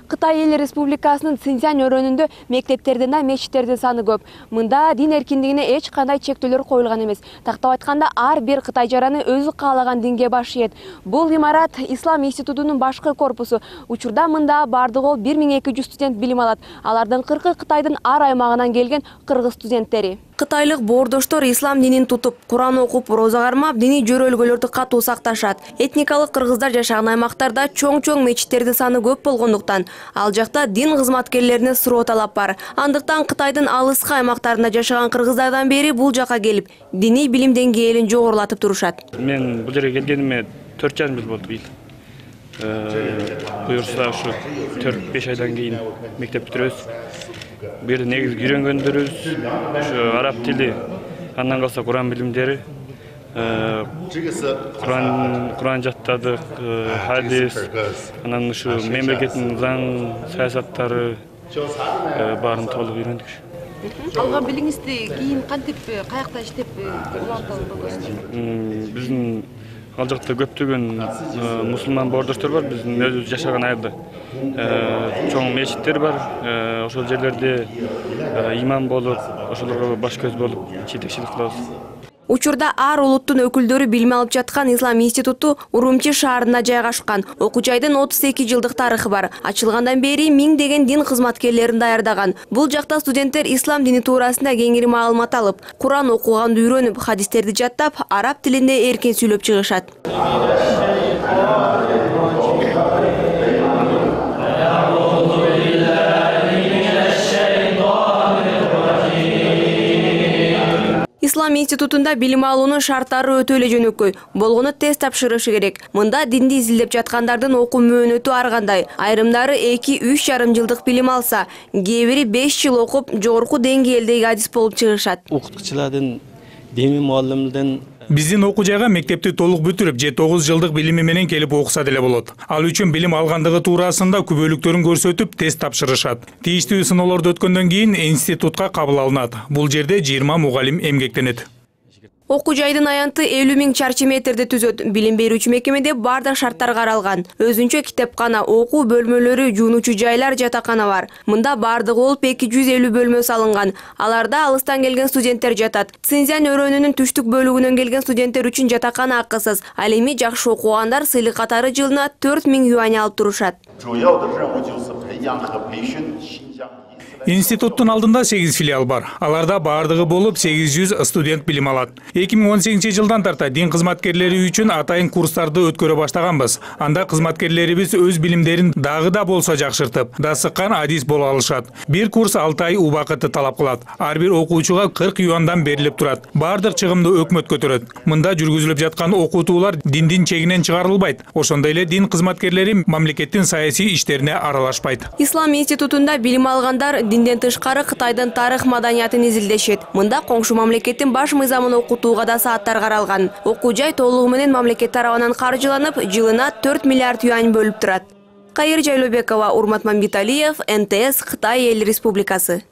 Кытай Эл Республикасынын Цзиньцзян өрөөнүндө мектептердин да мечиттердин саны көп. Мында дин эркиндигине эч кандай чектөөлөр коюлган эмес. Тактап айтканда, ар бир кытай жараны өзү каалаган динге баш ийет. Бул имарат Ислам институтунун башкы корпусу. Учурда мында бардыгы 1200 студент билим алат. Алардын 40-ы Кытайдын ар аймагынан келген кыргыз студенттери. Кытайлык боордоштор ислам динин тутуп, Куран окуп, роза кармап, диний жөрөлгөлөрдү катуу сакташат. Этникалык кыргыздар жашаган аймактарда чоң-чоң мечиттердин саны көп болгондуктан, ал жакта дин кызматкерлерине суроо талап бар. Андыктан Кытайдын алыскы аймактарында жашаган кыргыздардан бери бул жака келип, диний билим деңгээлин жогорулатып турушат. Мен бул жерге келгениме 4,5 жыл болду быйыл. Буюрса ушу 4-5 айдан кийин мектеп бүтүрөбүз. Бу жерде негизги үйрөнгөндөрүбүз ушу араб тили, андан калса Куран билимдери, Куран жаттадык, хадис, анан ушу мемлекеттин заң, саясаттары баарын толук үйрөндүк. Алган билимиңизди кийин кантип, каякта иштеп улантабыз? Биздин ал жакта көптөгөн мусулман боордоштор бар, биздин өзүбүз жашаган айылда. Чоң мечиттер бар, ошол жерлерде имам болуп, ошолорго баш көз болуп, жетекчилик кылабыз. Учурда ар улуттун өкүлдөрү билим алып жаткан Ислам институту Урумчи шаарында жайгашкан. Окуу жайдын 32 жылдык тарыхы бар. Ачылгандан бери миңдеген дин кызматкерлерин даярдаган. Бул жакта студенттер ислам дини туурасында кеңири маалымат алып, Куран окуганды үйрөнүп, хадистерди жаттап, араб тилинде эркин сүйлөп чыгышат. Ислам институтунда билим алуунун шарттары өтө эле жөнөкөй. Болгону тест тапшырышы керек. Мында динди изилдеп жаткандардын окуу мөөнөтү ар кандай. Айрымдары 2-3,5 жылдык билим алса, кээ бири 5 жыл окуп, жогорку деңгээлдеги адис болуп чыгышат. Окутуучулардын, дини муалlimдин биздин окуу жайга мектепти толук бүтүрүп, 9 жылдык билими менен келип окуса деле болот. Ал үчүн билим алгандыгы туурасында күбөлүктөрүн көрсөтүп, тест тапшырышат. Тийиштүү сыноолорду өткөндөн кийин институтка кабыл алынат. Бул жерде 20 мугалим эмгектенет. Окуу жайдын аянты 50.000 чарчы метрди түзөт. Билим берүүчү мекемеде бардык шарттар каралган. Өзүнчө китепкана, окуу бөлмөлөрү, жуунуучу жайлар, жатакана бар. Мында бардыгы болуп 250 бөлмө салынган. Аларда алыстан келген студенттер жатат. Цзиньцзян өрөөнүнүн түштүк бөлүгүнөн келген студенттер үчүн жатакана акысыз. Ал эми жакшы окугандар сыйлык катары жылына 4000 юань алып турушат. Институттун алдында 8 филиал бар. Аларда бардыгы болуп 800 студент билим алат. 2018 жылдан тарта дин кызматкерлери үчүн атайын курстарды өткөрө баштаганбыз. Анда кызматкерлерибиз өз билимдерин дагы да болсо жакшыртып, дасыккан адис боло алышат. Бир курс 6 ай убакытты талап кылат. Ар бир окуучуга 40 юандан берилип турат. Бардык чыгымды өкмөт көтөрөт. Мында жүргүзүлүп жаткан окутуулар диндин чегинен чыгарылбайт. Ошондой эле дин кызматкерлери мамлекеттин саясий иштерине аралашпайт. Ислам институтунда билим алгандар динден тышкары Кытайдын тарых маданиятын изилдешет. Мында коңшу мамлекеттин баш мыйзамын окутууга да сааттар каралган. Окуу жай толугу менен мамлекет тарабынан каржыланып, жылына 4 миллиард юань бөлүп турат. Кайыр Жайлообекова, Урмат Мамбеталиев, НТС, Кытай Эл Республикасы.